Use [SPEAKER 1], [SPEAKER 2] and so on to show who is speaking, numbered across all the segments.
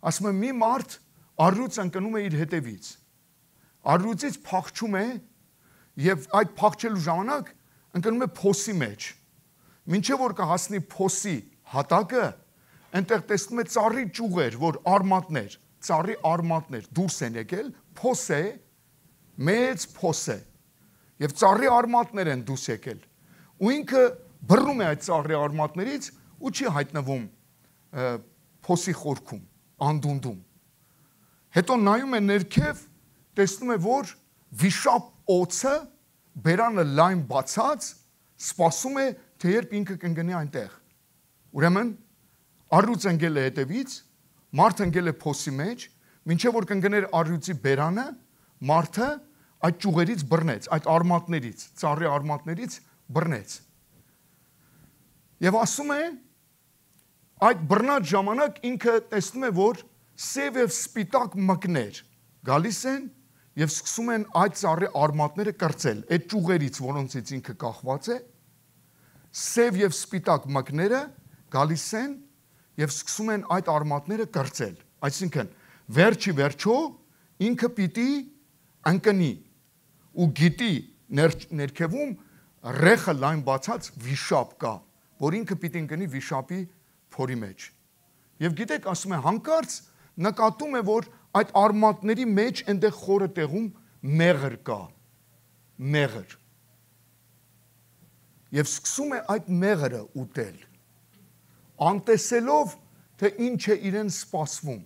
[SPEAKER 1] ասում է մի մարդ առյուծ ընկնում է իր հետևից, առյուծից փախչում է եւ այդ փախչելու ժամանակ ընկնում է փոսի մեջ, մինչեւ որ կհասնի փոսի հատակը, այնտեղ տեսնում է ծառի ճյուղեր, որ արմատներ, ծառի արմատներ դուրս են եկել, փոս է, մեծ փոս է, եւ ծառի արմատներ են դուրս եկել, ու ինքը բռնում է այդ ծառի արմատներից ու չի հայտնվում փոսի խորքում, անդունդում։ Հետո նայում է ներքև, տեսնում է, որ վիշապ օձը բերանը լայն բացած, սպասում է, թե երբ ինքը կընկնի այնտեղ։ Ուրեմն առյուծ ընկել է հետևից, մարդ ընկել է փոսի մեջ, մինչև որ կընկներ առյուծի բերանը, մարդը այդ ճյուղերից բռնեց, այդ արմատներից, ծառի արմատներից բռնեց։ Եվ ասում է, այդ բռնած ժամանակ ինքը տեսնում է, որ սև եւ սպիտակ մկներ գալիս են եւ սկսում են այդ ծառի արմատները կրծել, այդ ճյուղերից, որոնցից ինքը կախված է, սև եւ սպիտակ մկները գալիս են եւ սկսում են այդ արմատները կրծել։ Այսինքն, վերջի վերջո ինքը պիտի ընկնի ու գիտի ներքևում ռեխը լայն բացած վիշապ կա, որ ինքը պիտի ընկնի վիշապի փորի մեջ։ Եվ գիտեք, ասում է, հանկարծ նկատում է, որ այդ արմատների մեջ այնտեղ խորը տեղում մեղր կա, մեղր։ Եվ սկսում է այդ մեղրը ուտել, անտեսելով, թե ինչ է իրեն սպասվում։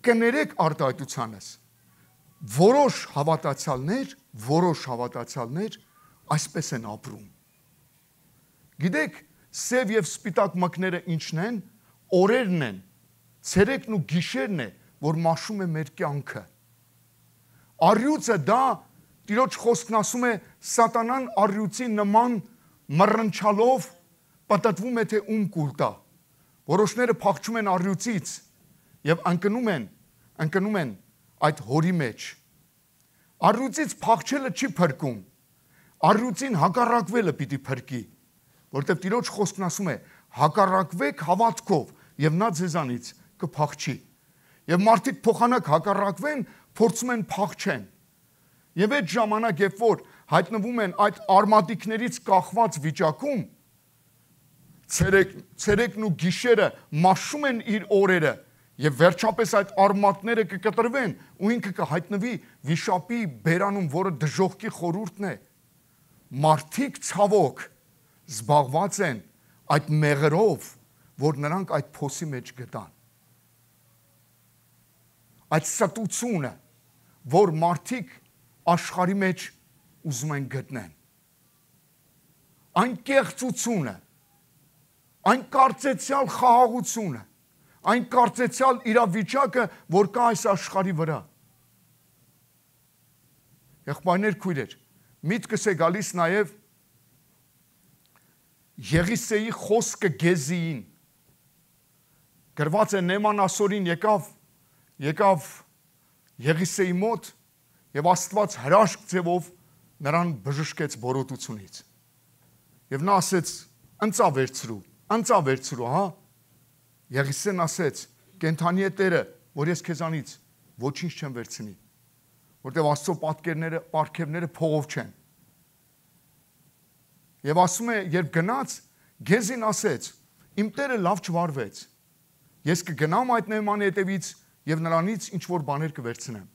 [SPEAKER 1] Կներեք արտահայտությանս, որոշ հավատացյալներ այսպես են ապրում։ Գիտեք, սև եւ սպիտակ մկները ինչն են, օրերն են, ցերեկն ու գիշերն է, որ մաշում է մեր կյանքը։ Առյուծը դա, Տիրոջ խոսքն ասում է, սատանան առյուծի նման մռնչալով պատտվում է, թե ում կուլ տա։ Որոշները փախչում են առյուծից եւ ընկնում են այդ հորի մեջ։ Առյուծից փախչելը չի փրկում, առյուծին հակառակվելը պիտի փրկի, որտեղ Տիրոջ խոսքն ասում է, հակառակվեք հավատքով եւ նա ձեզանից կփախչի։ Եվ մարդիկ փոխանակ հակառակվեն, փորձում են փախչեն։ Եվ այդ ժամանակ, երբ որ հայտնվում են այդ արմատիկներից կախված վիճակում, ցերեկն ու գիշերը մաշում են իր օրերը եւ վերջապես այդ արմատները կկտրվեն ու ինքը կհայտնվի վիշապի բերանում, որը դժոխքի խորհուրդն է։ Մարդիկ ցավոք զբաղված են այդ մեղրով, որ նրանք այդ փոսի մեջ գտան։ Այդ ստությունը, որ մարդիկ աշխարհի մեջ ուզում են գտնեն։ Այն կեղծությունը, այն կարծեցյալ խաղաղությունը, այն կարծեցյալ իրավիճակը, որ կա այս աշխարհի վրա։ Եղբայրներ, քույրեր, միտքս է գալիս նաև Եղիսեի խոսքը Գեզիին։ Գրված է Նեման ասորին եկավ Եղիսեի մոտ եւ Աստված հրաշք ձևով նրան բժշկեց բորոտությունից։ Եվ նա ասեց, ընծա վերցրու, հա։ Եղիսեն ասեց, կենթանի է Տերը, որ ես քեզանից ոչինչ չեմ վերցնի, որտեղ Աստծո պարգևները փողով չեն։ Եվ ասում է, երբ գնաց, Գեզին ասեց, իմ Տերը լավ չվարվեց, ես կգնամ այդ Նեեմանի հետևից եւ նրանից ինչ որ բաներ կվերցնեմ։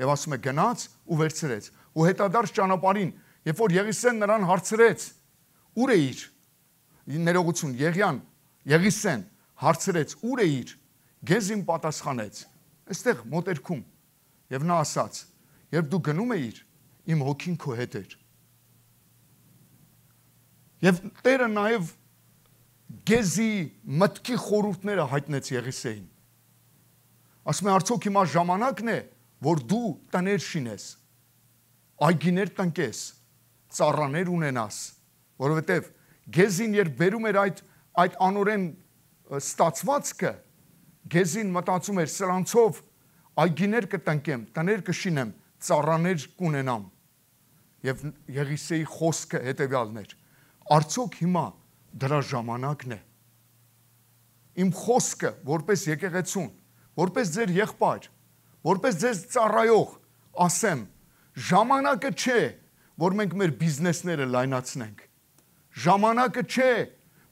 [SPEAKER 1] Եվ ասում է, գնաց ու վերցրեց։ Ու հետադարձ ճանապարհին, երբ որ Եղիսեն նրան հարցրեց, ուր է իր, ներողություն, Եղիսեն հարցրեց, ուր է իր, Գեզին պատասխանեց, այստեղ մոտերքում։ Եվ նա ասաց, երբ դու գնում էիր, իմ հոգին քո հետ էր։ Եվ Տերը նաև Գեզի մտքի խորհուրդները հայտնեց Եղիսեին։ Ասում է, արդյոք հիմա ժամանակն է, որ դու տներ շինես, այգիներ տնկես, ծառաներ ունենաս, որովհետև Գեզին երբ բերում էր այդ անօրեն ստացվածքը, Գեզին մտածում էր, սրանցով այգիներ կտնկեմ, տներ կշինեմ, ծառաներ կունենամ։ Եվ Եղիսեի խոսքը հետևյալն էր, արդյոք հիմա դրա ժամանակն է։ Իմ խոսքը, որպես եկեղեցուն, որպես ձեր եղբայր, որպես ձեզ ծառայող, ասեմ, ժամանակը չէ, որ մենք մեր բիզնեսները լայնացնենք։ Ժամանակը չէ,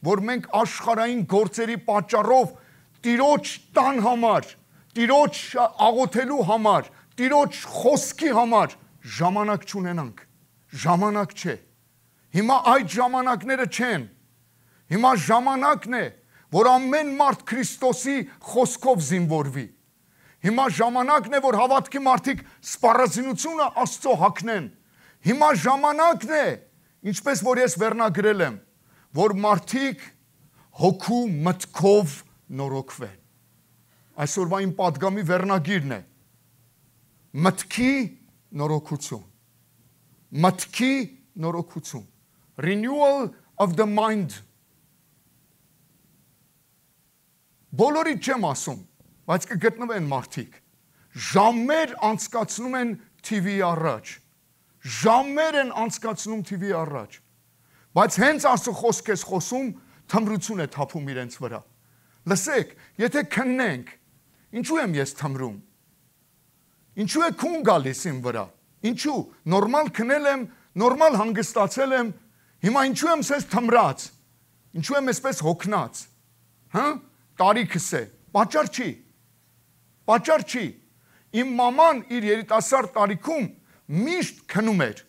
[SPEAKER 1] որ մենք աշխարհային գործերի պատճառով Տիրոջ տան համար, Տիրոջ աղոթելու համար, Տիրոջ խոսքի համար ժամանակ չունենանք։ Ժամանակ չէ։ Հիմա այդ ժամանակները չեն։ Հիմա ժամանակն է, որ ամեն մարդ Քրիստոսի խոսքով զինվորվի։ Հիմա ժամանակն է, որ հավատքի մարդիկ սպառազինությունը Աստծո հագնեն։ Հիմա ժամանակն է, ինչպես որ ես վերնագրել եմ, որ մարդիկ հոգու մտքով նորոգվեն։ Այսօրվա իմ պատգամի վերնագիրն է մտքի նորոգություն։ Մտքի նորոգություն։ Renewal of the mind։ Բոլորիդ չեմ ասում, բայց կգտնվեն մարդիկ։ Ժամեր անցկացնում են TV առաջ։ Ժամեր են անցկացնում TV առաջ։ Բայց հենց Աստծո խոսք ես խոսում, թմրություն է թափում իրենց վրա։ Լսեք, եթե քննենք, ինչու եմ ես թմրում։ Ինչու է քուն գալիս իմ վրա։ Ինչու։ Նորմալ քնել եմ, նորմալ հանգստացել եմ, հիմա ինչու եմ սես թմրած։ Ինչու եմ այսպես հոգնած։ Հա՞։ Տարիքս է։ Պատճառ չի։ Պատճառ չի։ Իմ մաման իր երիտասարդ տարիքում միշտ քնում էր։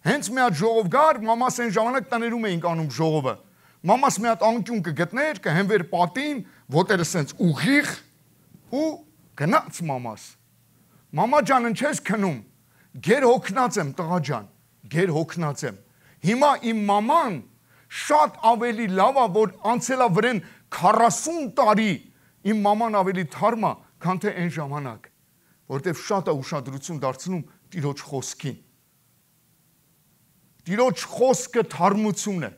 [SPEAKER 1] Հենց մի հատ ժողով գար, մամաս այն ժամանակ տներում էինք անում ժողովը։ Մամաս մի հատ անկյուն կգտներ, կհենվեր պատին, ոտերը սենց ուղիղ ու գնաց մամաս։ Մամա ջան, ինչ ես քնում։ Գեր հոգնած եմ, տղա ջան, գեր հոգնած եմ։ Հիմա իմ մաման շատ ավելի լավ է, որ անցելա վրեն 40 տարի իմ մաման ավելի թարմ է, քան թե այն ժամանակ, որտեվ շատ է ուշադրություն դարձնում Տիրոջ խոսքին։ Տիրոջ խոսքը թարմություն է։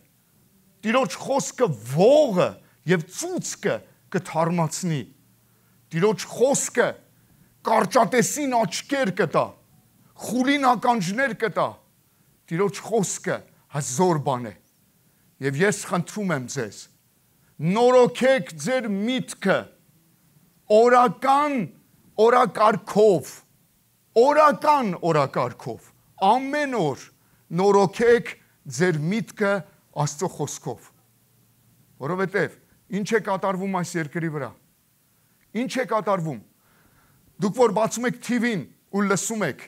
[SPEAKER 1] Տիրոջ խոսքը ողը եւ ծուծկը կթարմացնի։ Տիրոջ խոսքը կարճատեսին աչքեր կտա, խուլին ականջներ կտա։ Տիրոջ խոսքը հզոր բան է։ Եվ ես խնդրում եմ ձեզ, նորոգեք ձեր միտքը օրակարգով, ամեն օր նորոգեք ձեր միտքը Աստծո խոսքով։ Որովհետև ինչ է կատարվում այս երկրի վրա։ Ինչ է կատարվում։ Դուք որ բացում եք TV-ն ու լսում եք,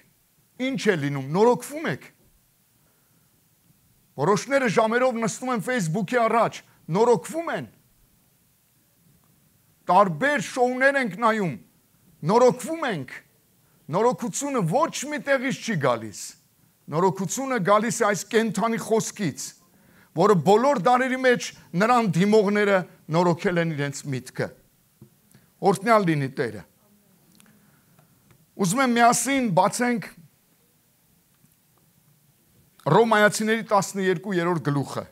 [SPEAKER 1] ինչ է լինում, նորոգվում եք։ Որոշները ժամերով նստում են Facebook-ի առաջ, նորոգվում են։ Տարբեր շոուներ ենք նայում, նորոգվում ենք։ Նորոգությունը ոչ մի տեղից չի գալիս։ Նորոգությունը գալիս է այս կենթանի խոսքից, որը բոլոր դարերի մեջ նրան դիմողները նորոգել են իրենց միտքը։ Օրհնյալ լինի Տերը։ Ուզում եմ միասին բացենք Ռոմայացիների 12-րդ գլուխը։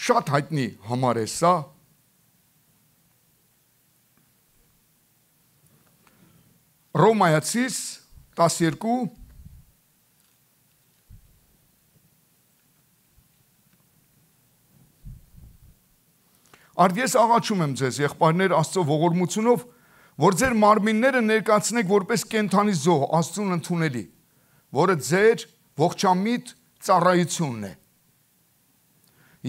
[SPEAKER 1] Շատ հայտնի համար է սա։ Ռոմայացիս 12 Արդ ես աղաչում եմ ձեզ, եղբայրներ, Աստծո ողորմությունով, որ ձեր մարմինները ներկայացնեք որպես կենդանի զոհ, Աստծուն ընդունելի, որը ձեր ողջամիտ ծառայությունն է։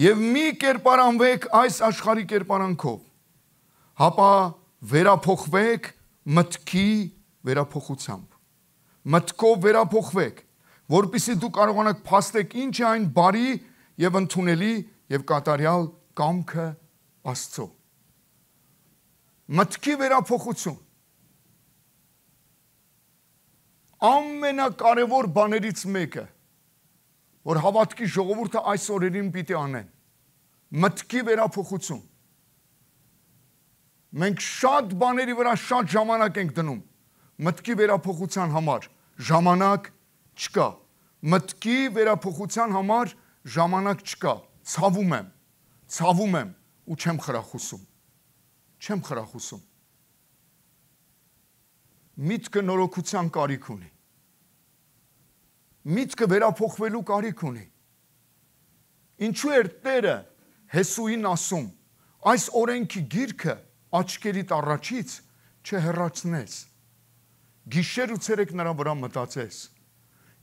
[SPEAKER 1] Եվ մի կերպարանվեք այս աշխարհի կերպարանքով, հապա վերափոխվեք մտքի վերափոխությամբ։ Մտքով վերափոխվեք, որպեսզի դու կարողանաք փաստեք ինչ է այն բարի եւ ընդունելի եւ կատարյալ կամքը Աստծո։ Մտքի վերափոխություն ամենակարևոր բաներից մեկը, որ հավատքի ժողովուրդը այս օրերին պիտի անեն։ Մտքի վերափոխություն։ Մենք շատ բաների վրա շատ ժամանակ ենք դնում։ Մտքի վերափոխության համար ժամանակ չկա։ Մտքի վերափոխության համար ժամանակ չկա։ Ցավում եմ ու չեմ խրախուսում։ Չեմ խրախուսում։ Միտքը նորոգության կարիք ունի։ Միտքը վերափոխվելու կարիք ունի։ Ինչու էր Տերը Հեսուին ասում. այս օրենքի գիրքը աչքերիդ առաջից չհեռացնես։ Գիշեր ու ցերեկ նրա վրա մտածես։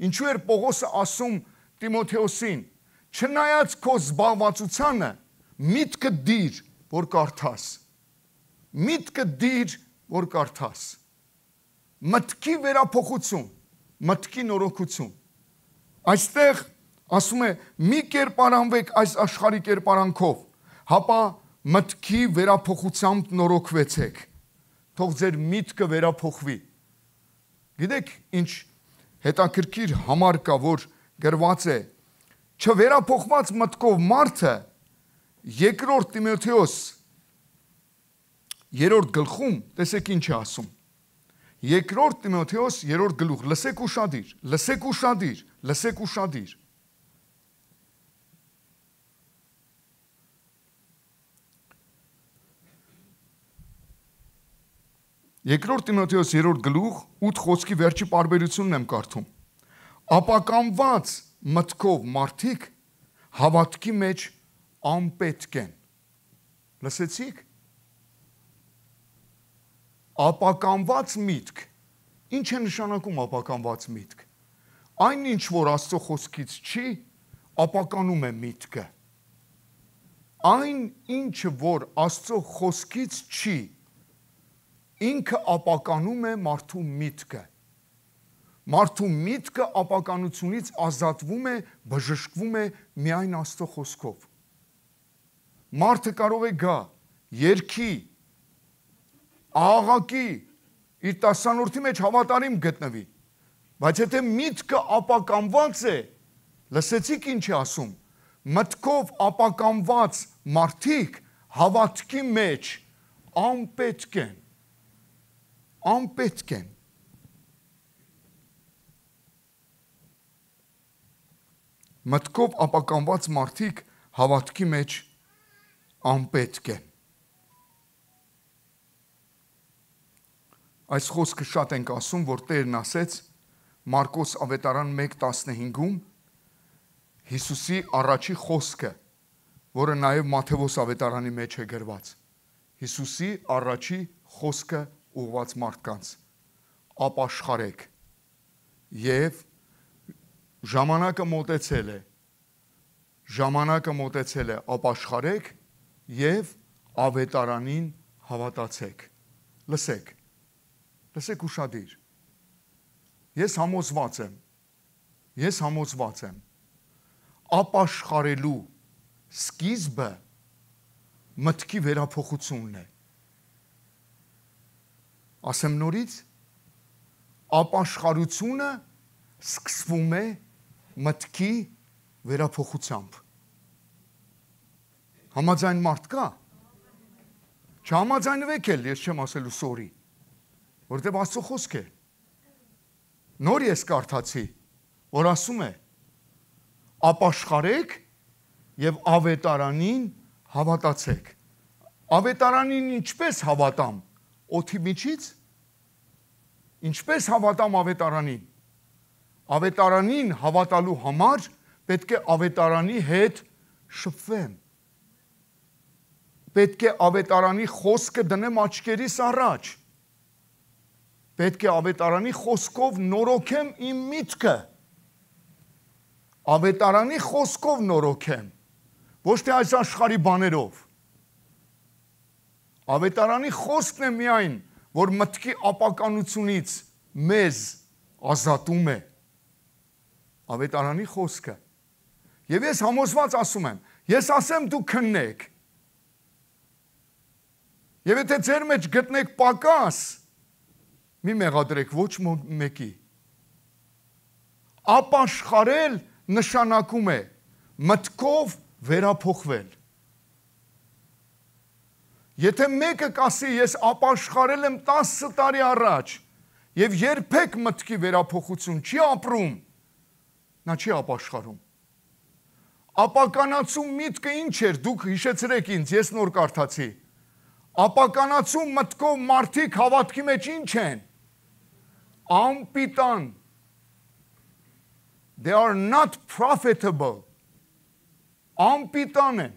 [SPEAKER 1] Ինչու էր Պողոսը ասում Տիմոթեոսին. չնայած քո զբաղվածությանը միտքը դիր, որ կարդաս։ Միտքը դիր, որ կարդաս։ Մտքի վերափոխություն, մտքի նորոգություն։ Այստեղ ասում է մի կերպարանվեք այս աշխարհի կերպարանքով, հապա մտքի վերափոխությամբ նորոգվեցեք։ Թող ձեր միտքը վերափոխվի։ Գիտեք ինչ հետաքրքիր համար կա, որ գրված է չվերափոխված մտքով մարդը երկրորդ Տիմոթեոս 3-րդ գլխում տեսեք ինչ է ասում։ Երկրորդ Տիմոթեոս 3-րդ գլուխ, լսեք ուշադիր, լսեք ուշադիր, լսեք ուշադիր։ Երկրորդ Տիմոթեոս 3-րդ գլուխ 8 խոսքի վերջի պարբերությունն եմ կարդում։ Ապականված մտքով մարդիկ հավատքի մեջ անպետք են։ Լսեցիք։ Ապականված միտք։ Ինչ է նշանակում ապականված միտք։ Այն ինչ որ Աստծո խոսքից չի, ապականում է միտքը։ Այն ինչը որ Աստծո խոսքից չի, ինքը ապականում է մարդու միտքը։ Մարդու միտքը ապականությունից ազատվում է, բժշկվում է միայն Աստծո խոսքով։ Մարդը կարող է գա, երգի, աղաղակի, իր տասանորդի մեջ հավատարիմ գտնվի, բայց եթե միտքը ապականված է, լսեցիք ինչ է ասում, մտքով ապականված մարդիկ հավատքի մեջ անպետք են։ Անպետք են։ Մտքով ապականված մարդիկ հավատքի մեջ անպետք են։ Այս խոսքը շատ ենք ասում, որ Տերն ասեց Մարկոս ավետարան 1:15-ում Հիսուսի առաջի խոսքը, որը նաև Մատթեոս ավետարանի մեջ է գրված։ Հիսուսի առաջի խոսքը ուղղված մարդկանց. ապաշխարեք եւ ժամանակը մոտեցել է։ Ժամանակը մոտեցել է, ապաշխարեք եւ ավետարանին հավատացեք։ Լսեք։ Լսեք ուշադիր։ Ես համոզված եմ, ապաշխարելու սկիզբը մտքի վերափոխությունն է։ Ասեմ նորից, ապաշխարությունը սկսվում է մտքի վերափոխությամբ։ Համաձայն մարդ կա։ Չհամաձայնվեք էլ, ես չեմ ասելու սորի, որտեղ Աստծո խոսք է։ Նոր ես կարդացի, որ ասում է. ապաշխարեք եւ ավետարանին հավատացեք։ Ավետարանին ինչպես հավատամ։ Օդի միջից։ Ինչպես հավատամ ավետարանին։ Ավետարանին հավատալու համար պետք է ավետարանի հետ շփվեմ։ Պետք է ավետարանի խոսքը դնեմ աչքերիս առաջ։ Պետք է ավետարանի խոսքով նորոգեմ իմ միտքը։ Ավետարանի խոսքով նորոգեմ, ոչ թե այս աշխարհի բաներով։ Ավետարանի խոսքն է միայն, որ մտքի ապականությունից մեզ ազատում է։ Ավետարանի խոսքը։ Եվ ես համոզված ասում եմ, ես ասեմ դու քննեք։ Եվ եթե ձեր մեջ գտնեք պակաս, մի մեղադրեք ոչ մեկի։ Ապաշխարել նշանակում է մտքով վերափոխվել։ Եթե մեկը կասի ես ապաշխարել եմ 10 տարի առաջ եւ երբեք մտքի վերափոխություն չի ապրում, նա չի ապաշխարում։ Ապականացու միտքը ինչ էր, դուք հիշեցրեք ինձ, ես նոր կարդացի։ Ապականացու մտքով մարդիկ հավատքի մեջ ինչ են։ Անպիտան։ They are not profitable. Անպիտան են։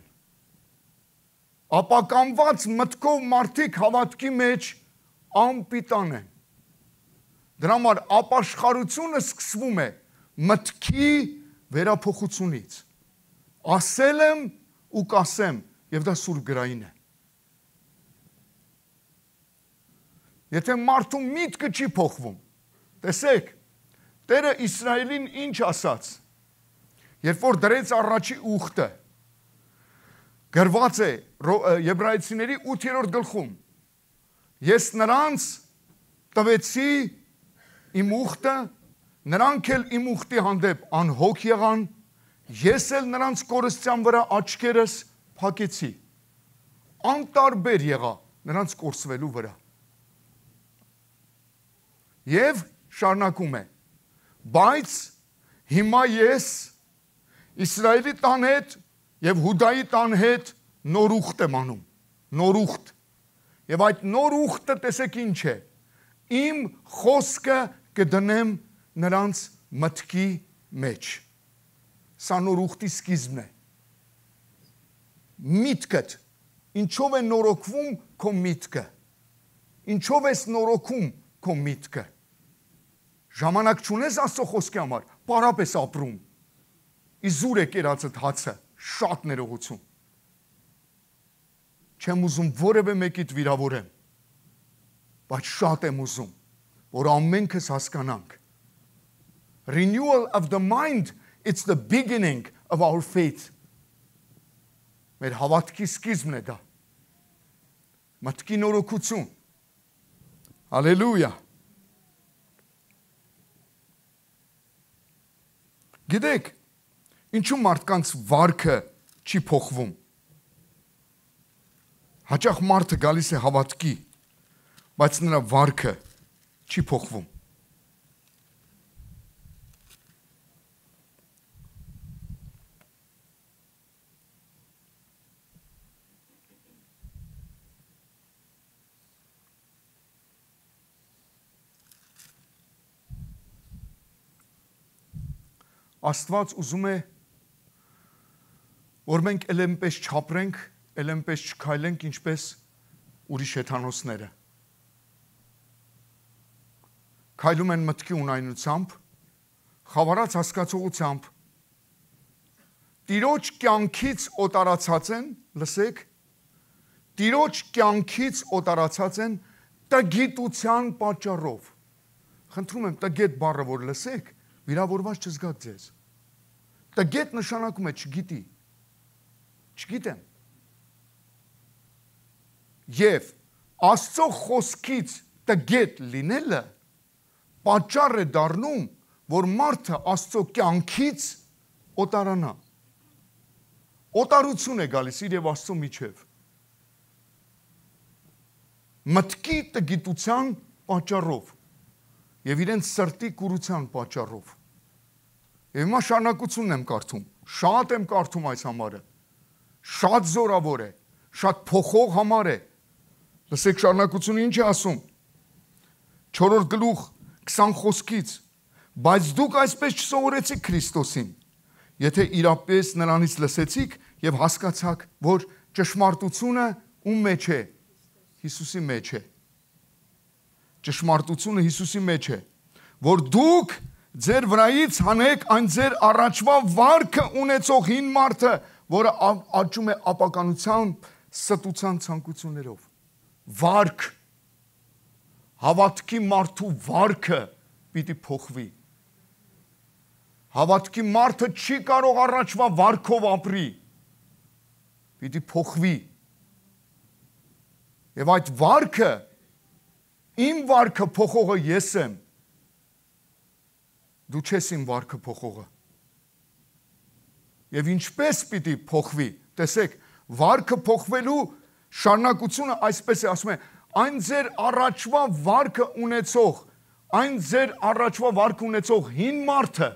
[SPEAKER 1] ապականված մտքով մարդիկ հավատքի մեջ անպիտան են։ Դրա համար ապաշխարությունը սկսվում է մտքի վերափոխությունից։ Ասել եմ ու կասեմ, եւ դա սուրբ գրային է։ Եթե մարդու միտքը չի փոխվում, տեսեք, Տերը Իսրայելին ինչ ասաց, երբ որ դրեց առաջի ուխտը, գրված է Եբրայեցիների 8-րդ գլխում, ես նրանց տվեցի իմ ուխտը, նրանք էլ իմ ուխտի հանդեպ անհոգ եղան, ես էլ նրանց կորստյան վրա աչքերս փակեցի, անտարբեր եղա նրանց կորսվելու վրա։ Եվ շարունակում է, բայց հիմա ես Իսրայելի տան հետ եւ Հուդայի տան հետ նոր ուխտ եմ անում, նոր ուխտ։ Եվ այդ նոր ուխտը տեսեք ինչ է, իմ խոսքը կդնեմ նրանց մտքի մեջ։ Սա նոր ուխտի սկիզբն է։ Միտքդ, ինչով է նորոգվում քո միտքը։ Ինչով ես նորոգում քո միտքը։ Ժամանակ չունես Աստծո խոսքի համար, պարապ ես ապրում։ Իզուր է կերածդ հացը, շատ ներողություն։ Չեմ ուզում որևէ մեկիդ վիրավորեմ, բայց շատ եմ ուզում, որ ամենքս հասկանանք։ Renewal of the mind, it's the beginning of our faith. Մեր հավատքի սկիզբն է դա։ Մտքի նորոգություն։ Հալելույա։ Գիտեք, ինչու մարդկանց վարքը չի փոխվում։ Հաճախ մարդը գալիս է հավատքի, բայց նրա վարքը չի փոխվում։ Աստված ուզում է, որ մենք էլ այնպես չապրենք, էլ այնպես չքայլենք, ինչպես ուրիշ հեթանոսները։ Քայլում են մտքի ունայնությամբ, խավարած հասկացողությամբ, Տիրոջ կյանքից օտարացած են, լսեք, Տիրոջ կյանքից օտարացած են տգիտության պատճառով։ Խնդրում եմ, տգետ բառը որ լսեք, վիրավորված չզգաք ձեզ։ Տգետ նշանակում է չգիտի, չգիտեմ։ Եվ Աստծո խոսքից տգետ լինելը պատճառ է դառնում, որ մարդը Աստծո կյանքից օտարանա։ Օտարություն է գալիս իր եւ Աստծո միջև։ Մտքի տգիտության պատճառով եւ իրենց սրտի կուրության պատճառով։ Եվ հիմա շարունակությունն եմ կարդում, շատ եմ կարդում այս համարը, շատ զորավոր է, շատ փոխող համար է։ Լսեք շարունակությունը ինչ է ասում, 4-րդ գլուխ 20 խոսքից, բայց դուք այսպես չսովորեցիք Քրիստոսին, եթե իրապես նրանից լսեցիք եւ հասկացաք, որ ճշմարտությունը ում մեջ է, Հիսուսի մեջ է։ Ճշմարտությունը Հիսուսի մեջ է, որ դուք ձեր վրայից հանեք այն ձեր առաջվա վարքը ունեցող հին մարդը, որը աճում է ապականության, ստության ցանկություններով։ Վարք, հավատքի մարդու վարքը պիտի փոխվի։ Հավատքի մարդը չի կարող առաջվա վարքով ապրի, պիտի փոխվի։ Եվ այդ վարքը, իմ վարքը փոխողը ես եմ, դու չես իմ վարքը փոխողը։ Եվ ինչպես պիտի փոխվի, տեսեք, վարքը փոխվելու շարունակությունը այսպես է, ասում է, այն ձեր առաջվա վարքը ունեցող, այն ձեր առաջվա վարքը ունեցող հին մարդը,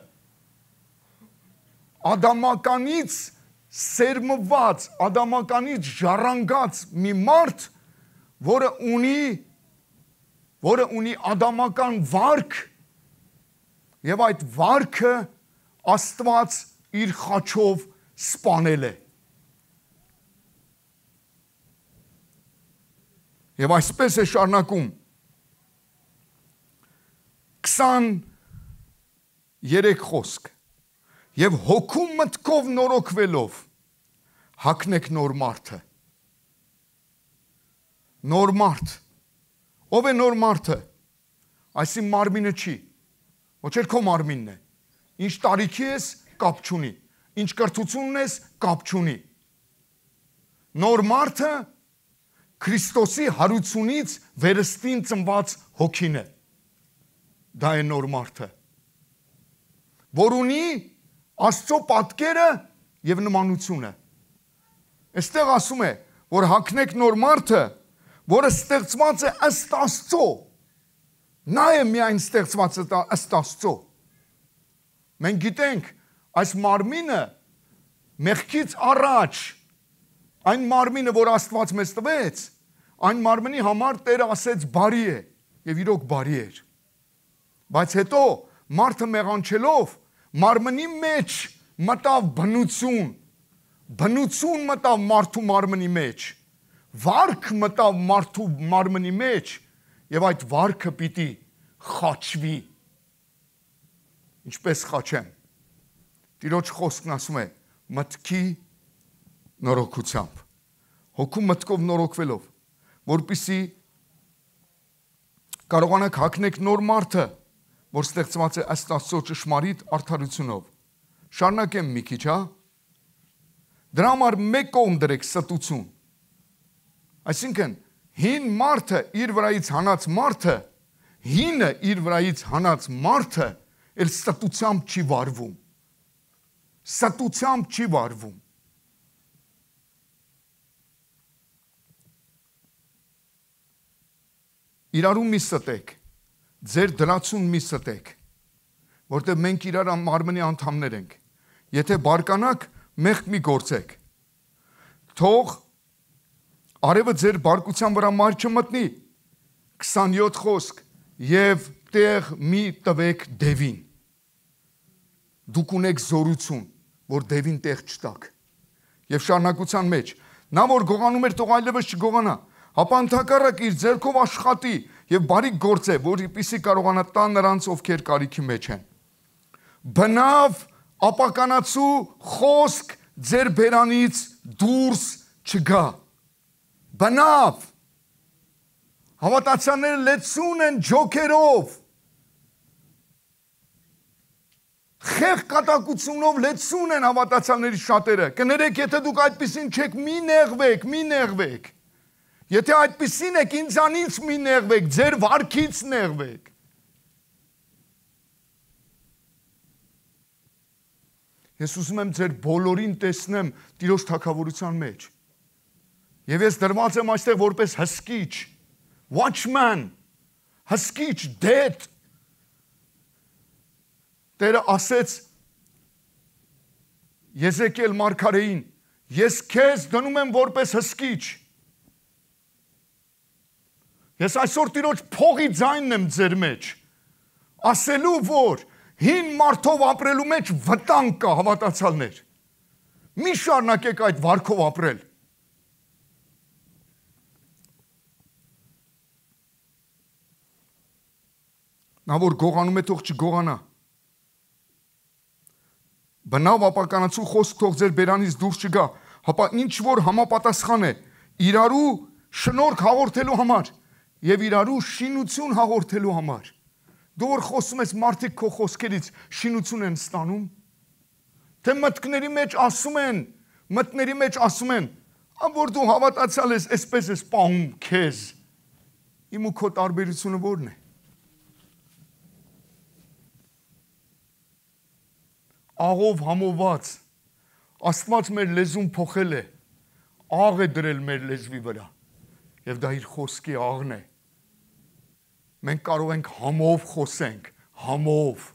[SPEAKER 1] ադամականից սերմված, ադամականից ժառանգած մի մարդ, որը ունի ադամական վարք, եւ այդ վարքը Աստված իր խաչով սպանել է։ Եվ այսպես է շարունակում 23 խոսք եւ հոգու մտքով նորոգվելով հագնեք նոր մարդը։ Նոր մարդ։ Ով է նոր մարդը։ Այսին մարմինը չի։ Ոչ էլ քո մարմինն է։ Ինչ տարիքի ես, կապ չունի։ Ինչ կրթությունն ես, կապ չունի։ Նոր մարդը Քրիստոսի հարությունից վերստին ծնված հոգին է։ Դա է նոր մարդը, որ ունի Աստծո պատկերը եւ նմանությունը։ Այստեղ ասում է, որ հագնեք նոր մարդը, որը ստեղծված է ըստ Աստծո։ Նա է միայն ստեղծված ըստ Աստծո։ Մենք գիտենք, այս մարմինը մեղքից առաջ, այն մարմինը, որ Աստված մեզ տվեց, այն մարմնի համար Տերը ասեց բարի է եւ իրոք բարի էր։ Բայց հետո մարդը մեղանչելով մարմնի մեջ մտավ բնություն մտավ մարդու մարմնի մեջ, վարք մտավ մարդու մարմնի մեջ եւ այդ վարքը պիտի խաչվի։ Ինչպես խաչեմ։ Տիրոջ խոսքն ասում է մտքի նորոգությամբ, հոգու մտքով նորոգվելով, որպեսզի կարողանաք հագնեք նոր մարդը, որ ստեղծված է ըստ Աստծո ճշմարիտ արդարությունով։ Շարունակեմ մի քիչ, հա։ Դրա համար մեկ կողմ դրեք ստություն։ Այսինքն, հին մարդը իր վրայից հանած մարդը, հինը իր վրայից հանած մարդը էլ ստությամբ չի վարվում։ Ստությամբ չի վարվում։ Իրարու մի ստեք, ձեր դրացուն մի ստեք, որտեղ մենք իրար մարմնի անդամներ ենք։ Եթե բարկանաք, մեղք մի գործեք։ Թող արևը ձեր բարկության վրա մար չմտնի, 27 խոսք, եւ տեղ մի տվեք դևին։ Դուք ունեք զորություն, որ դևին տեղ չտաք։ Եվ շարունակության մեջ, նա որ գողանում էր, թող այլևս չգողանա, ապա ընդհակառակ իր ձեռքով աշխատի եւ բարիք գործե, որպեսզի կարողանա տա նրանց, ովքեր կարիքի մեջ են։ Բնավ ապականացու խոսք ձեր բերանից դուրս չգա։ Բնավ հավատացյալները լեցուն են ջոքերով, խեղ կատակությունով լեցուն են հավատացյալների շատերը։ Կներեք, եթե դուք այդպիսին չեք, մի նեղվեք։ Եթե այդպիսին եք, ինձանից մի նեղվեք, ձեր վարքից նեղվեք։ Ես ուզում եմ ձեր բոլորին տեսնեմ Տիրոջ թագավորության մեջ։ Եվ ես դրված եմ այստեղ որպես հսկիչ, watchman, հսկիչ, դեդ։ Տերը ասեց Եզեկիել մարգարեին, ես քեզ դնում եմ որպես հսկիչ։ Ես այսօր Տիրոջ փողի ձայնն եմ ձեր մեջ, ասելու, որ հին մարդով ապրելու մեջ վտանգ կա, հավատացյալներ։ Մի շարունակեք այդ վարքով ապրել։ Նա որ գողանում է, թող չգողանա։ Բնավ ապականացու խոսք թող ձեր բերանից դուրս չգա, հապա ինչ որ համապատասխան է իրարու շնորհք հաղորդելու համար եւ իրարու շինություն հաղորդելու համար։ Դու որ խոսում ես, մարդիկ քո խոսքերից շինություն են ստանում, թե մտքների մեջ ասում են, որ դու հավատացյալ ես, այսպես ես պահում քեզ։ Իմ ու քո տարբերությունը ո՞րն է։ Աղով համոված, Աստված մեր լեզուն փոխել է, աղ է դրել մեր լեզվի վրա, եւ դա իր խոսքի աղն է։ Մենք կարող ենք համով խոսենք, համով։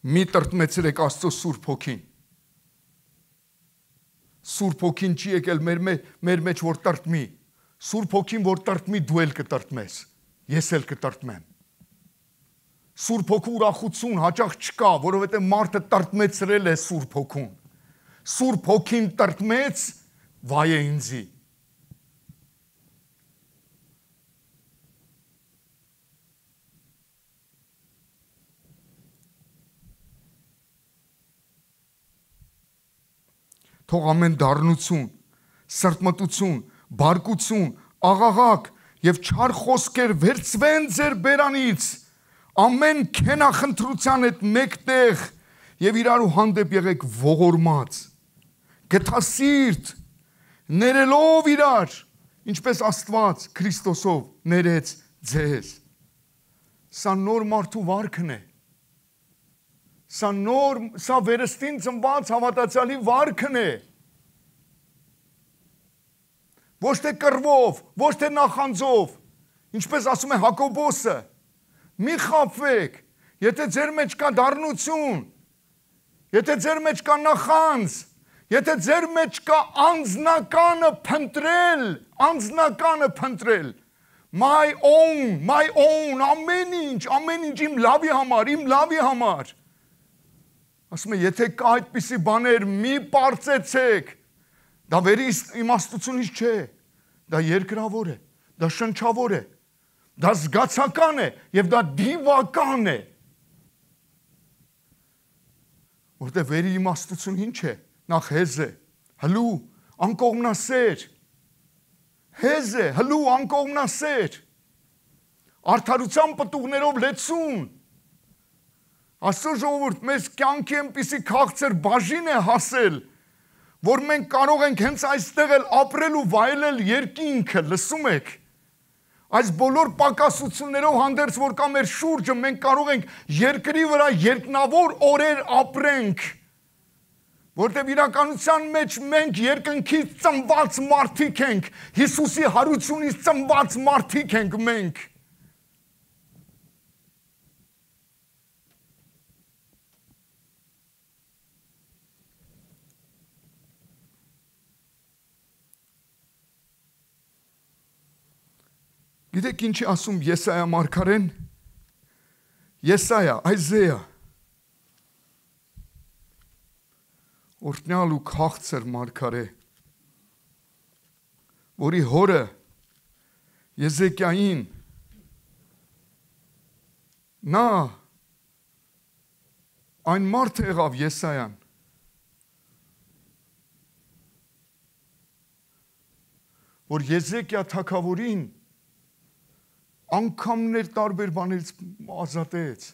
[SPEAKER 1] Մի տրտմեցրեք Աստծո Սուրբ Հոգին։ Սուրբ Հոգին չի եկել մեր մեջ, որ տրտմի։ Սուրբ Հոգին, որ տրտմի, դու էլ կտրտմես, ես էլ կտրտմեմ։ Սուրբ Հոգու ուրախություն հաճախ չկա, որովհետև մարդը տրտմեցրել է Սուրբ Հոգուն։ Սուրբ Հոգին տրտմեց, վայ է ինձի։ Թող ամեն դառնություն, սրտմտություն, բարկություն, աղաղակ եւ չար խոսքեր վերցվեն ձեր բերանից, ամեն քենախնդրության հետ մեկտեղ եւ իրարու հանդեպ եղեք ողորմած, գթասիրտ, ներելով իրար, ինչպես Աստված Քրիստոսով ներեց ձեզ։ Սա նոր մարդու վարքն է։ Սա վերստին ծնված հավատացյալի վարքն է։ Ոչ թե կռվով, ոչ թե նախանձով, ինչպես ասում է Հակոբոսը, մի խաբվեք, եթե ձեր մեջ կա դառնություն, եթե ձեր մեջ կա նախանձ, եթե ձեր մեջ կա անձնականը փնտրել, my own, ամեն ինչ իմ լավի համար, ասում է, եթե կա այդպիսի բաներ, մի պարծեցեք, դա վերի իմաստությունից չէ, դա երկրավոր է, դա շնչավոր է, դա զգացական է եւ դա դիվական է։ Որտեղ վերի իմաստություն ինչ է, նախ հեզ է, հլու, անկողմնասեր, հեզ է, հլու, անկողմնասեր, արդարության պտուղներով լեցուն, Աստծո ժողովուրդ, մեզ կյանքի այնպիսի քաղցր բաժին է հասել, որ մենք կարող ենք հենց այստեղ էլ ապրել ու վայելել երկինքը, լսում եք։ Այս բոլոր պակասություններով հանդերձ, որ կա մեր շուրջը, մենք կարող ենք երկրի վրա երկնավոր օրեր ապրենք, որտեղ իրականության մեջ մենք երկնքից ծնված մարդիկ ենք, Հիսուսի հարությունից ծնված մարդիկ ենք մենք։ Գիտեք ինչ է ասում Եսայա մարգարեն, Այզեա, օրհնյալ ու քաղցր մարգարե, որի հորը Եզեկիային նա այն մարդը եղավ Եսայան, որ Եզեկիա թագավորին անգամներ տարբեր բաներից ազատեց։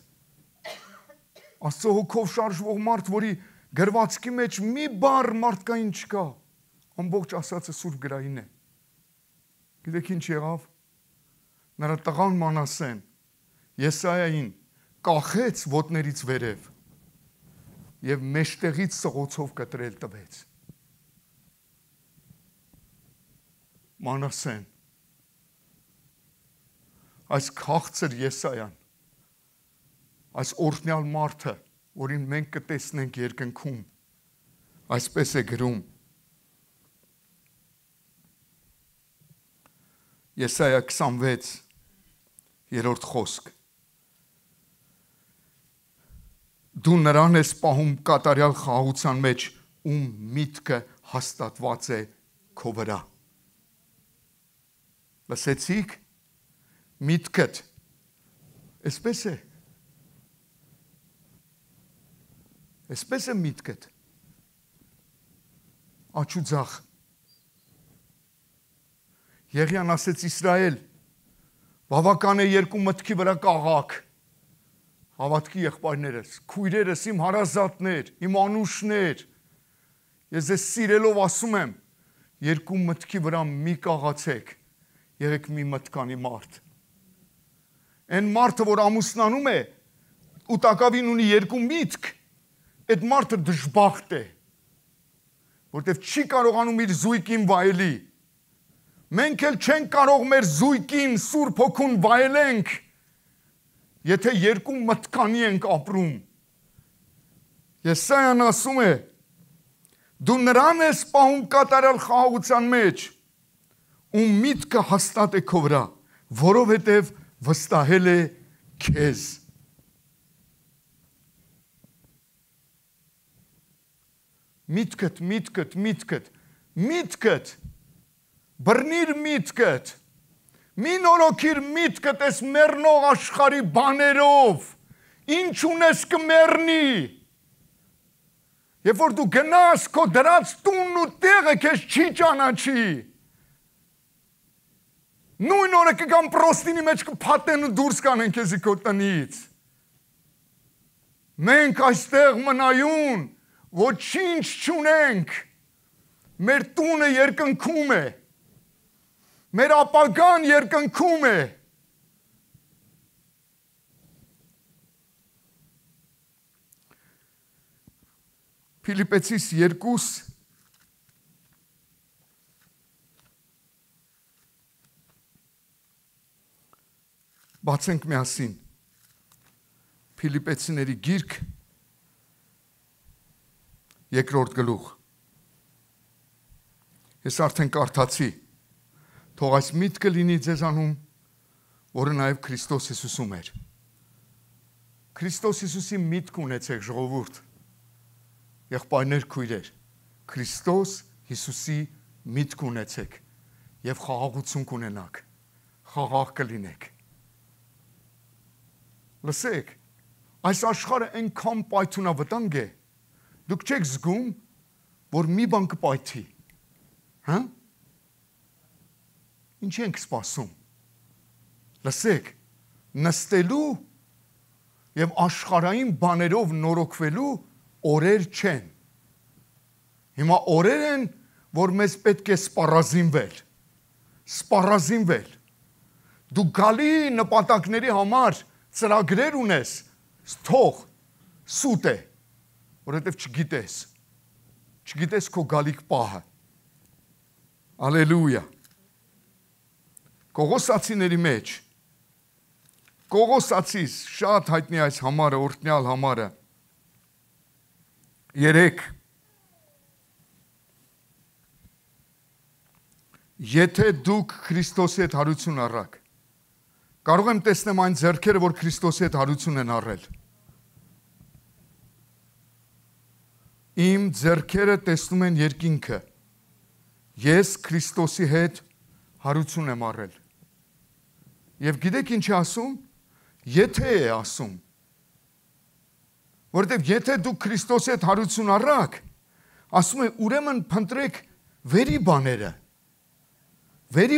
[SPEAKER 1] Աստծո հոգով շարժվող մարդ, որի գրվածքի մեջ մի բառ մարդկային չկա, ամբողջ ասածը Սուրբ գրային է։ Գիտեք ինչ եղավ։ Նրա տղան Մանասեն Եսայային կախեց ոտներից վերև եւ մեջտեղից սղոցով կտրել տվեց։ Մանասեն այս քաղցր Եսայան, այս օրհնյալ մարդը, որին մենք կտեսնենք երկնքում, այսպես է գրում Եսայա 26 երրորդ խոսք. Դու նրան ես պահում կատարյալ խաղաղության մեջ, ում միտքը հաստատված է քո վրա։ Լսեցիք? Միտքդ, այսպես է միտքդ, աչուձախ, Եղիան ասեց Իսրայել, բավական է երկու մտքի վրա կաղաք, հավատքի եղբայրներս, քույրերս, իմ հարազատներ, իմ անուշներ, ես ես սիրելով ասում եմ, երկու մտքի վրա մի կաղացեք, եղեք մի մտքանի մարդ։ Այն մարդը, որ ամուսնանում է, ու տակավին ունի երկու միտք, այդ մարդը դժբախտ է, որտև չի կարողանում իր զույգին վայելի։ Մենք էլ չենք կարող մեր զույգին Սուրբ Հոգուն վայելենք, եթե երկու մտքանի ենք ապրում։ Եսայան ասում է, դու նրան ես պահում կատարյալ խաղաղության մեջ, ում միտքը հաստատ է քո վրա, որովհետև վստահել է քեզ։ միտքդ, բռնիր միտքդ, մի նորոգիր միտքդ ես մեռնող աշխարհի բաներով, ինչ ունես կմեռնի, երբ որ դու գնաս քո դրած տունն ու տեղը քեզ չի ճանաչի, նույն օրը կգան պրոստինի մեջ կփաթեն ու դուրս կանեն քեզի քո տնից, մենք այստեղ մնայուն, ոչինչ չունենք, մեր տունը երկնքում է, մեր ապագան երկնքում է, Փիլիպպեցիս 2 բացենք միասին Փիլիպպեցիների գիրք 2-րդ գլուխ Ես արդեն կարդացի թող այս միտքը լինի ձեզանում որը նաև Քրիստոս Հիսուսում էր Քրիստոս Հիսուսի միտք ունեցեք ժողովուրդ եղբայրներ քույրեր Քրիստոս Հիսուսի միտք ունեցեք եւ խաղաղություն կունենաք խաղաղ կլինեք լսեք այս աշխարհը այնքան պայթունավտանգ է դուք չեք զգում որ մի բան կպայթի հա ինչ ենք սպասում լսեք նստելու եւ աշխարհային բաներով նորոգվելու օրեր չեն հիմա օրեր են որ մեզ պետք է սպառազինվել դու գալի նպատակների համար ծրագրեր ունես թող սուտ է որովհետև չգիտես քո գալիք պահը Ալելույա Կողոսացիների մեջ Կողոսացիս շատ հայտնի այս համարը օրհնյալ համարը 3 Եթե դուք Քրիստոսի հետ հարություն առաք կարող եմ տեսնեմ այն ձեռքերը որ Քրիստոսի հետ հարություն են առել Իմ ձեռքերը տեսնում են երկինքը Ես Քրիստոսի հետ հարություն եմ առել Եվ գիտեք ինչ է ասում Եթե է ասում Որտեւ եթե դուք Քրիստոսի հետ հարություն առաք, ասում է ուրեմն փնտրեք վերի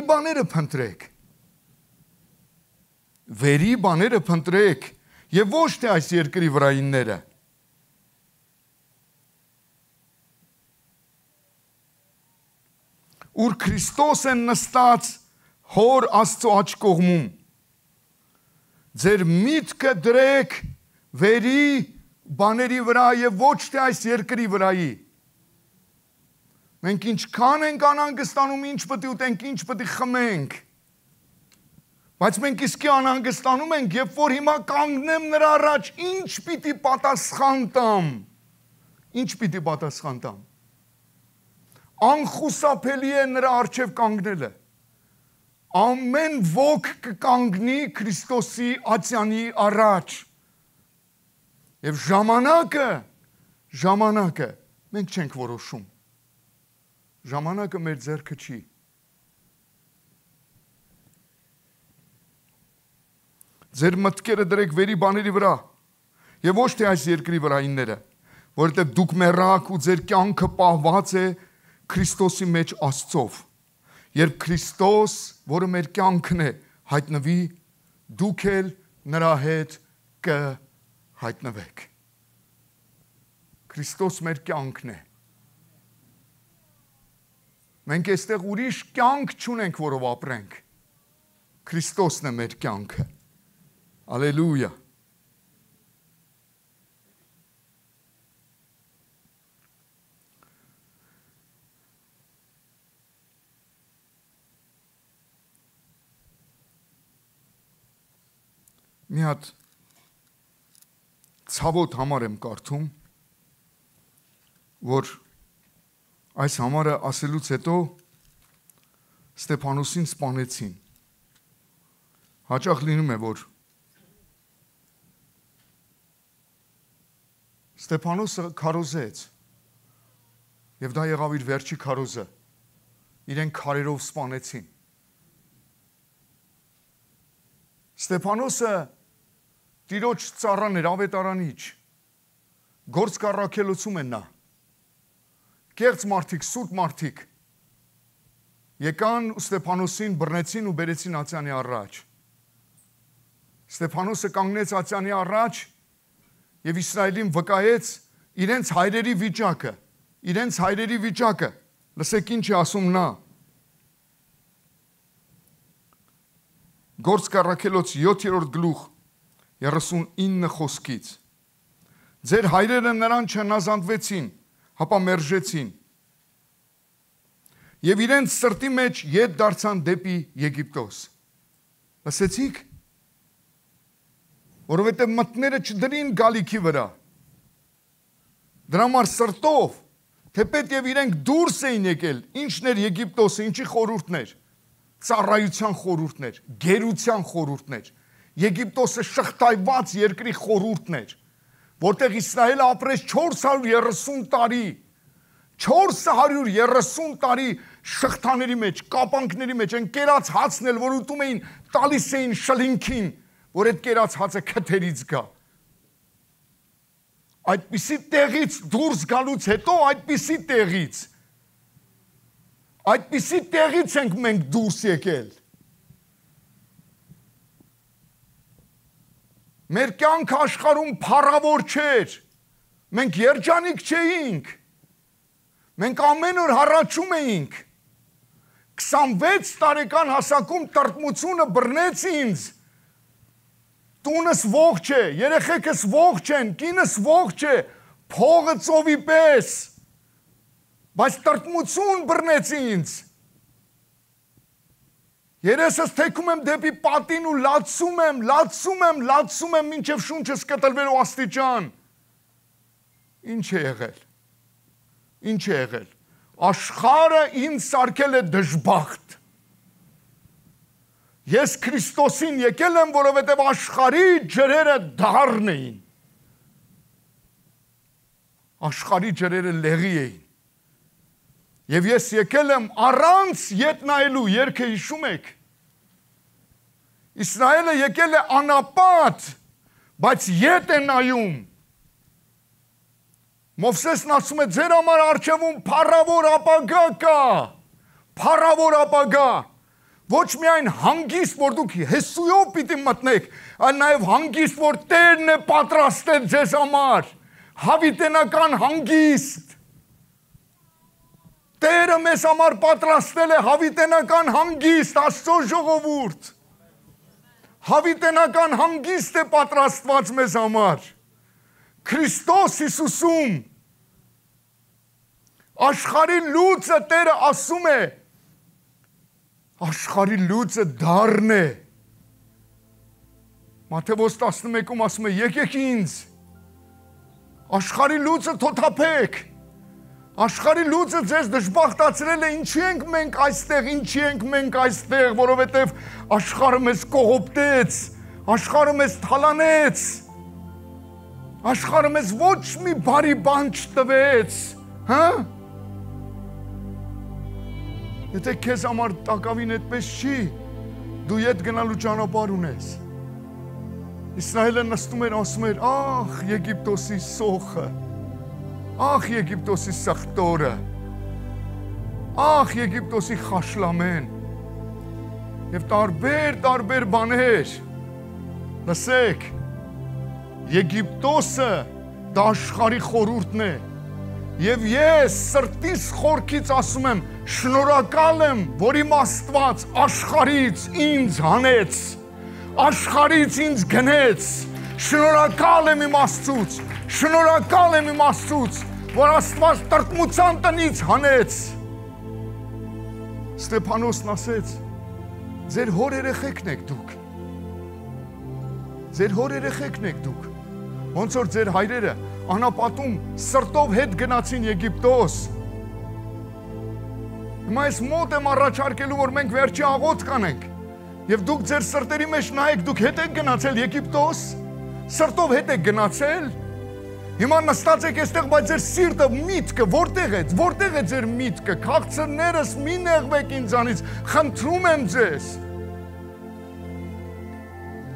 [SPEAKER 1] բաները փնտրեք։ Վերի բաները փնտրեք եւ ոչ թե այս երկրի վրայինները։ Ուր Քրիստոս են նստած հոր Աստծո աջ կողմում։ Ձեր միտքը դրեք վերի բաների վրա եւ ոչ թե այս երկրի վրայի։ Մենք ինչքան ենք անհանգստանում, ինչ պետք է ուտենք, ինչ պետք է խմենք։ Բայց մենք իսկի անհանգստանում ենք, երբ որ հիմա կանգնեմ նրա առաջ, ինչ պիտի պատասխան տամ։ Անխուսափելի է նրա առջև կանգնելը։ Ամեն ոգ կկանգնի Քրիստոսի ատյանի առաջ։ Եվ ժամանակը մենք չենք որոշում։ Ժամանակը մեր ձեռքը չի։ Ձեր մտքերը դրեք վերի բաների վրա եւ ոչ թե այս երկրի վրայինները, որովհետեւ դուք մեռաք ու ձեր կյանքը պահված է Քրիստոսի մեջ Աստծով։ Երբ Քրիստոս, որը մեր կյանքն է, հայտնվի, դուք էլ նրա հետ կհայտնվեք։ Քրիստոս մեր կյանքն է։ Մենք այստեղ ուրիշ կյանք չունենք, որով ապրենք։ Քրիստոսն է մեր կյանքը։ Ալելույա։ Մի հատ ցավոտ համար եմ կարդում, որ այս համարը ասելուց հետո Ստեփանոսին սպանեցին։ Հաճախ լինում է, որ Ստեփանոսը քարոզեց, Եվ դա եղավ իր վերջի քարոզը։ Իրեն քարերով սպանեցին։ Ստեփանոսը Տիրոջ ծառան էր, ավետարանիչ։ Գործ կառաքելոցում են նա։ Կեղծ մարդիկ, սուրբ մարդիկ եկան Ստեփանոսին բռնեցին ու բերեցին ացյանի առաջ։ Ստեփանոսը կանգնեց ացյանի առաջ եւ Իսրայելին վկայեց իրենց հայրերի վիճակը։ Լսեք ինչ է ասում նա։ Գործ կառաքելոց 7-րդ գլուխ 39 խոսքից։ Ձեր հայրերը նրան չհնազանդվեցին, հապա մերժեցին։ Եվ իրենց սրտի մեջ ետ դարձան դեպի Եգիպտոս։ Լսեցիք։ Որովհետև մտները չդրին գալիքի վրա։ Դրա համար սրտով, թեպետև իրենք դուրս էին եկել, ինչն էր Եգիպտոսը, ինչի խորհուրդներ, ծառայության խորհուրդներ, գերության խորհուրդներ, Եգիպտոսը շղթայված երկրի խորհուրդներ, որտեղ Իսրայելը ապրեց 430 տարի, 430 տարի շղթաների մեջ, կապանքների մեջ, են կերած հացն էլ, որ ուտում էին, տալիս էին շլինքին, որ այդ կերած հացը քթերից գա։ Այդպիսի տեղից դուրս գալուց հետո, այդպիսի տեղից ենք մենք դուրս եկել։ Մեր կյանքը աշխարհում փառավոր չէր, մենք երջանիկ չէինք, մենք ամեն օր հառաչում էինք, 26 տարեկան հասակում տրտմությունը բռնեց ինձ, տունս ողջ է, երեխեքս ողջ են, կինս ողջ է, փողը ծովի պես, բայց տրտմություն բռնեց ինձ։ Երեսս թեքում եմ դեպի պատին ու լացում եմ, մինչև շունչս կտրվելու աստիճան։ Ինչ է եղել։ Աշխարհը ինձ սարքել է դժբախտ։ Ես Քրիստոսին եկել եմ, որովհետև աշխարհի ջրերը դառն էին։ Աշխարհի ջրերը լեղի էին։ Եվ ես եկել եմ առանց ետ նայելու, երգը հիշում եք։ Իսրայելը եկել է անապատ, բայց ետ է նայում։ Մովսեսն ասում է, ձեր համար առջևում փառավոր ապագա կա, փառավոր ապագա։ Ոչ միայն հանգիստ, որ դուք Հեսուով պիտի մտնեք, այլ նաև հանգիստ, որ Տերն է պատրաստել ձեզ համար, հավիտենական հանգիստ։ Տերը մեզ համար պատրաստել է հավիտենական հանգիստ, Աստծո ժողովուրդ։ Հավիտենական հանգիստ է պատրաստված մեզ համար։ Քրիստոս Հիսուսում աշխարհի լույսը Տերը ասում է, աշխարհի լույսը դառն է։ Մատթեոս 11-ում ասում է, եկեք ինձ, աշխարհի լույսը թոթափեք, աշխարհի լույսը ձեզ դժբախտացրել է, ինչի ենք մենք այստեղ, որովհետև աշխարհը մեզ կողոպտեց, աշխարհը մեզ թալանեց, աշխարհը մեզ ոչ մի բարի բան չտվեց, հա? Եթե քեզ համար տակավին այդպես չի, դու ետ գնալու ճանապարհ ունես։ Իսրայելը նստում էր, ասում էր, ախ, Եգիպտոսի սոխը, ախ, Եգիպտոսի սխտորը, ախ, Եգիպտոսի խաշլամեն, և տարբեր բաներ, լսեք, Եգիպտոսը դա աշխարհի խորհուրդն է, և ես սրտիս խորքից ասում եմ, շնորհակալ եմ, որ իմ Աստված աշխարհից ինձ հանեց, աշխարհից ինձ գնեց, շնորհակալ եմ իմ Աստծուց, որ Աստված տրտմության տնից հանեց։ Ստեփանոսն ասեց, ձեր հոր երեխեքն եք դուք, ոնց որ ձեր հայրերը անապատում սրտով հետ գնացին Եգիպտոս։ Հիմա ես մոտ եմ առաջարկելու, որ մենք վերջի աղոթք կանենք, և դուք ձեր սրտերի մեջ նայեք, դուք հետ եք գնացել Եգիպտոս, սրտով հետ եք գնացել, Հիմա նստած եք այստեղ, բայց ձեր սիրտը, միտքը որտեղ է ձեր միտքը, քաղցրներս մի նեղվեք ինձանից, խնդրում եմ ձեզ։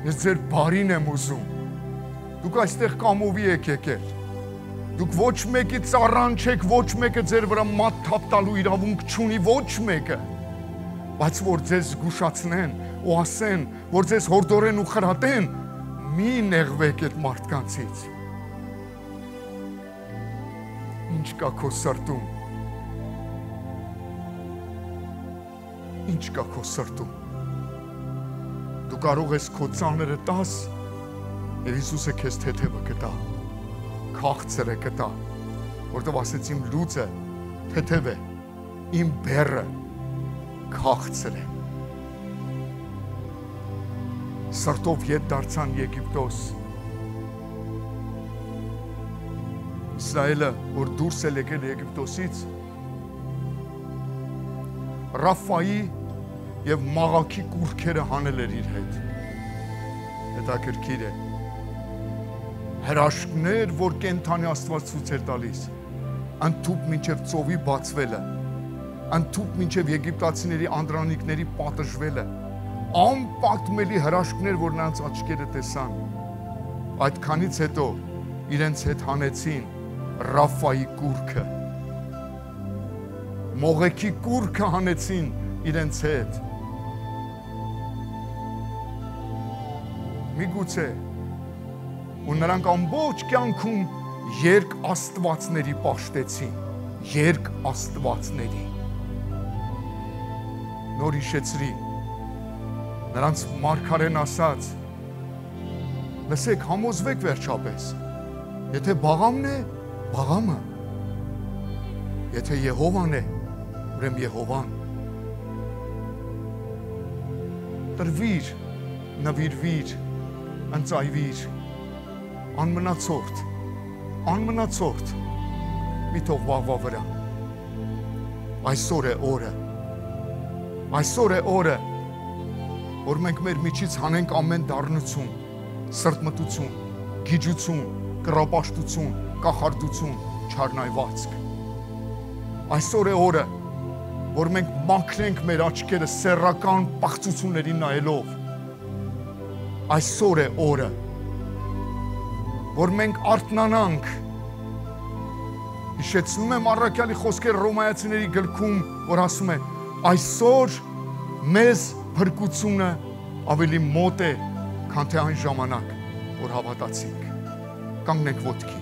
[SPEAKER 1] Ես ձեր բարին եմ ուզում։ Դուք այստեղ կամովի եք եկել։ Դուք ոչ մեկի ծառան չեք, ոչ մեկը ձեր վրա մատ թափ տալու իրավունք չունի, ոչ մեկը, բայց որ ձեզ զգուշացնեն ու ասեն, որ ձեզ հորդորեն ու խրատեն, մի նեղվեք այդ մարդկանցից։ Ինչ կա քո սրտում։ Ինչ կա քո սրտում։ Դու կարող ես քո ծանրը տաս, եւ Հիսուսը քեզ թեթևը կտա։ Քաղցր է կտա, որտով ասեց իմ լուծը թեթև է, իմ բեռը քաղցր է։ Սրտով ետ դարձան Եգիպտոս։ Իսրայելը, որ դուրս է եկել Եգիպտոսից, Ռաֆայի եւ Մաղաքի կուռքերը հանել էր իր հետ։ Հետաքրքիր է։ Հրաշքներ, որ կենթանի Աստված ցույց էր տալիս, ընդཐուպ մինչև ծովի բացվելը, ընդཐուպ մինչև եգիպտացիների անդրանիկների պատժվելը, անպատմելի հրաշքներ, որ նրանց աչքերը տեսան։ Այդքանից հետո իրենց հետ հանեցին Ռաֆայի կուռքը, Մողեքի կուռքը հանեցին իրենց հետ։ Միգուցե ու նրանք ամբողջ կյանքում երկ աստվածների պաշտեցին, երկ աստվածների։ Նոր հիշեցրի, նրանց մարգարեն ասաց, լսեք, համոզվեք վերջապես, եթե Բաղամն է, Բաղամը, եթե Եհովան է, ուրեմն Եհովան։ Տրվիր, նվիրվիր, ընծայվիր, անմնացորդ, մի թող վաղվա վրա։ Այսօր է օրը, որ մենք մեր միջից հանենք ամեն դառնություն, սրտմտություն, գիջություն, կռապաշտություն, կախարդություն, չարնայվածք։ Այսօր է օրը, որ մենք մաքրենք մեր աչքերը սեռական պաղծություններին նայելով։ Այսօր է օրը, որ մենք արթնանանք։ Հիշեցնում եմ առաքյալի խոսքերը Հռոմայացիների գրքում, որ ասում է, այսօր մեզ փրկությունը ավելի մոտ է, քան թե այն ժամանակ, որ հավատացինք։ Կանգնենք ոտքի։